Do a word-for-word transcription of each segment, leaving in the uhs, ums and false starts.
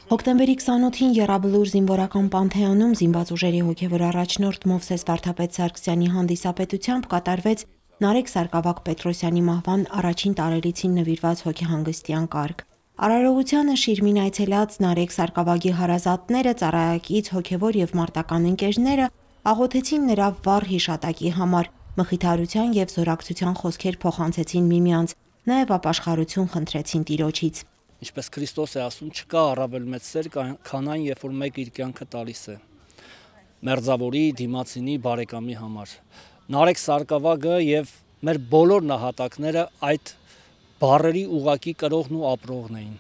Հոկտեմբերի քսանօթին Եռաբլուր զինվորական Պանթեոնում զինված ուժերի հոգևոր առաջնորդ Մովսես Վարդապետ Սարգսյանի հանդիսապետությամբ կատարվեց Նարեկ Սարգսակյան-Պետրոսյանի մահվան առաջին տարելիցին նվիրված հոգեհանգստյան կարգ։ Արարողությանը շիրմին այցելած Նարեկ Սարգսակի հարազատները, ծառայակից, հոգևոր և մարտական ընկերները աղոթեցին նրա վառ հիշատակի համար, մխիթարության և զորակցության խոսքեր փոխանցեցին միմյանց, նաև ապաշխարություն խնդրեցին Տիրոջից։ Ինչպես Քրիստոս է ասում, չկա առավել մեծ սեր, քան այն, երբ որ մեկը իր կյանքը տալիս է մերձավորի, դիմացինի, բարեկամի համար։ Նարեկ Սարգսակը եւ մեր բոլոր նահատակները այդ բառերի ուղակի կրողն ու ապրողն էին։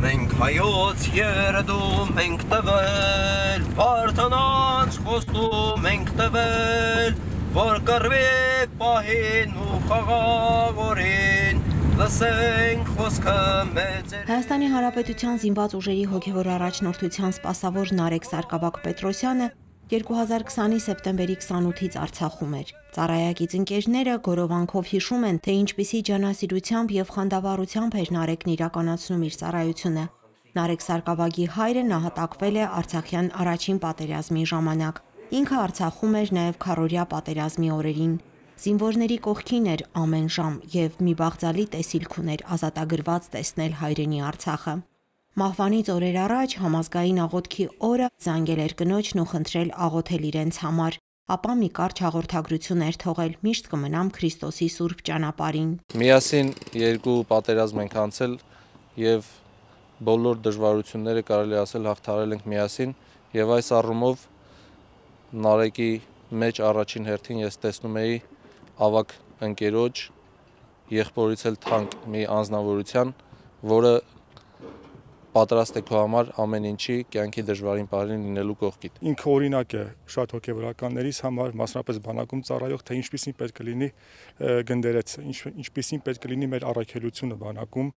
Մենք հայոց երդում ենք տվել, Վարդանանց խոստում ենք տվել, որ կռվի պահին ու խաղաղորին, լսենք խոսքը մեծեր։ Հայաստանի Հանրապետության զինված ուժերի հոգևոր առաջնորդության սպասավոր Նարեկ Սարգսակ-Պետրոսյանը երկու հազար քսանի սեպտեմբերի քսանութից Արցախում էր։ Ծառայակից ընկերները գորովանքով հիշում են, թե ինչպիսի ջանասիրությամբ եւ խանդավառությամբ էր Նարեկն իրականացնում իր ծառայությունը։ Նարեկ Սարգսակի հայրը նահատակվել է Արցախյան առաջին պատերազմի ժամանակ։ Ինքը Արցախում էր նաև քառօրյա պատերազմի օրերին։ Զինվորների կողքին էր ամեն ժամ եւ մի բաղձալի տեսիլք ուներ ազատագրված տեսնել հայրենի Արցախը։ Մահվանից օրեր առաջ համազգային աղոթքի օրը զանգել էր կնոջն ու խնդրել աղոթել իրենց համար, ապա մի կարճ հաղորդագրություն էր թողել՝ միշտ կմնամ Քրիստոսի սուրբ ճանապարհին։ Միասին երկու պատերազմ ենք անցել եւ բոլոր դժվարությունները կարելի ասել հաղթարել ենք միասին եւ այս առումով Նարեկի մեջ առաջին հերթին ես տեսնում էի ավակ ընկերոջ, եղբորից էլ թանկ մի անձնավորության, որը պատրաստ է քո համար ամեն ինչի, կյանքի դժվարին պահերին լինելու կողքիդ։ Ինքը օրինակ է շատ հոգևորականներից համար, մասնապես բանակում ծառայող, թե ինչպիսին պետք է լինի գնդերից, ինչպիսին պետք է լինի մեր առաքելությունը բանակում։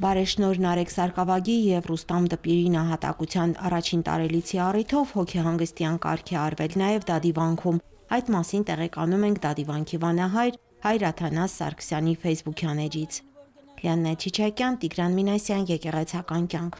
Բարեշնորհ Նարեկ Սարգսակի եւ Ռուստամ Դպիրի նահատակության առաջին տարելիցի առիթով հոգեհանգստյան կարգ է արվել նաև Դադիվանքում։ Այդ մասին տեղեկանում ենք Դադիվանքի վանահայր Հայր Աթանաս Սարգսյանի ֆեյսբուքյան էջից։ Լիաննա Չիչակյան, Տիգրան Մինասյան, Եկեղեցական կյանք։